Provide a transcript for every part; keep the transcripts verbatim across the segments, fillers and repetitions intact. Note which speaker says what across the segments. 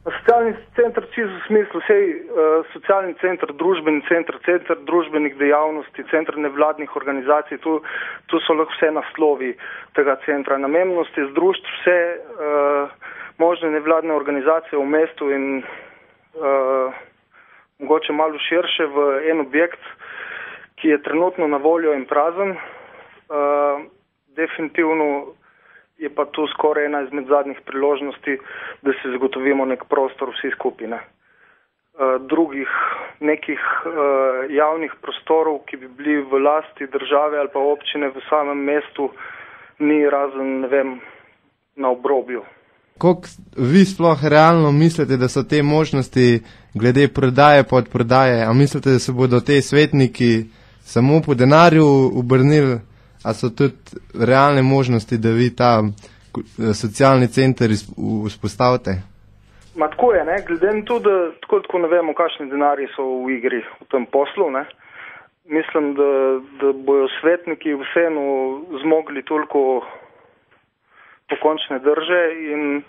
Speaker 1: Socialni center čisto v smislu, vsej uh, socialni center, družbeni center, center družbenih dejavnosti, center nevladnih organizacij, tu, tu so lahko vse naslovi tega centra. Namembnost je združiti vse uh, možne nevladne organizacije v mestu in uh, mogoče malo širše v en objekt, ki je trenutno na voljo in prazen. Uh, definitivno je pa tu skoraj ena izmed zadnjih priložnosti, da se zagotovimo nek prostor vsi skupine. Uh, drugih nekih uh, javnih prostorov, ki bi bili v lasti države ali pa občine v samem mestu, ni razen, ne vem, na obrobju.
Speaker 2: Koliko vi sploh realno mislite, da so te možnosti glede prodaje pod prodaje? A mislite, da se bodo te svetniki samo po denarju obrnili? A so tudi realne možnosti, da vi ta socialni center vzpostavite?
Speaker 1: Ma tako je, ne, glede na to, da tako, tako ne vemo, kakšni denarji so v igri v tem poslu, ne. Mislim, da, da bojo svetniki vseeno zmogli toliko pokončne drže in uh,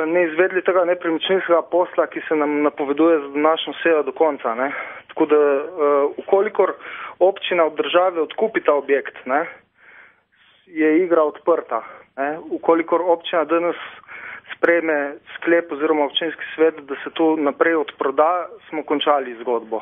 Speaker 1: ne izvedli tega nepremičninskega posla, ki se nam napoveduje za današnjo sejo do konca, ne. Tako da, uh, ukolikor občina od države odkupi ta objekt, ne, je igra odprta. Ne. Ukolikor občina danes sprejme sklep oziroma občinski svet, da se to naprej odproda, smo končali zgodbo.